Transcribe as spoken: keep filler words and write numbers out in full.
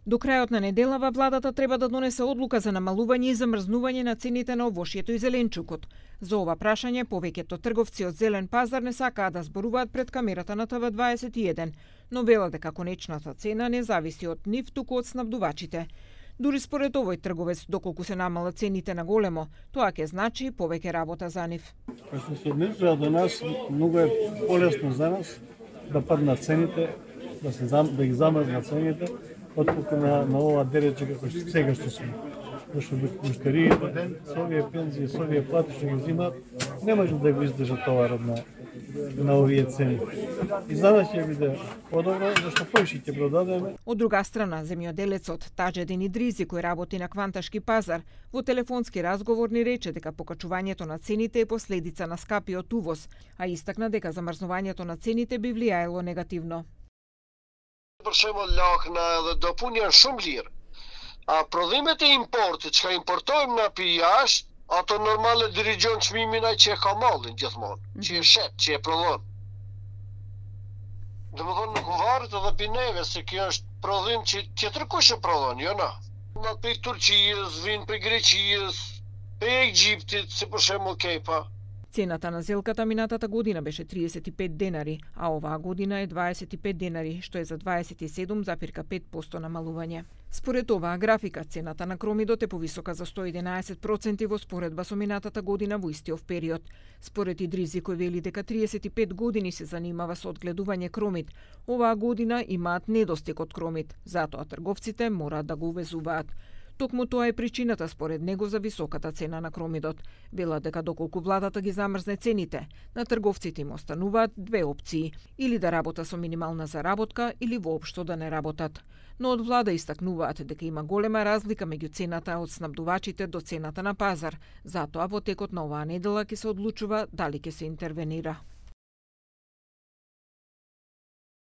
До крајот на неделава владата треба да донесе одлука за намалување и замрзнување на цените на овошјето и зеленчукот. За ова прашање повеќето трговци од зелен пазар не сакаат да зборуваат пред камерата на Т В дваесет и еден, но велат дека конечната цена не зависи од нив, туку од снабдувачите. Дури според овој трговец, доколку се намалат цените на големо, тоа ќе значи повеќе работа за нив. Што се однесува до нас, многу е полесно за нас да паднат цените, да се зам, да ги замрзнат цените, отколку на, на ова дерече како што сега што сме. Зашто муштериите, со овие пензии, со овие плати што ги взимат, не може да го издржат товарот на, на овие цени. И за нас ќе биде подобро, зашто поише ќе продадеме. Од друга страна, земјоделецот Таџедин Идризи, кој работи на Кванташки пазар, во телефонски разговор ни рече дека покачувањето на цените е последица на скапиот увоз, а истакна дека замрзнувањето на цените би влијаело негативно. Për shembull lakna edhe do pun janë shumë lirë. A prodhimet e importit që ka importojmë na pi jashtë, ato normale dirigjon çmimin ai që e ka mallin gjithmonë, mm -hmm. që e shet, që e prodhon. Domethënë nuk varet edhe pi neve se kjo është prodhim që tjetër kush e prodhon, jo na. Na pi Turqijës, vin për Greqijës, për Egjiptit, si për shembull kepa. Цената на зелката минатата година беше триесет и пет денари, а оваа година е дваесет и пет денари, што е за дваесет и седум запир пет проценти намалување. Според оваа графика, цената на кромидот е повисока за сто и единаесет проценти во споредба со минатата година во истиот период. Според Идризи, кој вели дека триесет и пет години се занимава со одгледување кромид, оваа година имаат недостиг од кромид, затоа трговците мораат да го увезуваат. Токму тоа е причината според него за високата цена на кромидот. Вела дека доколку владата ги замрзне цените, на трговците им остануваат две опции: или да работа со минимална заработка, или воопшто да не работат. Но од влада истакнуваат дека има голема разлика меѓу цената од снабдувачите до цената на пазар. Затоа во текот на оваа недела ќе се одлучува дали ќе се интервенира.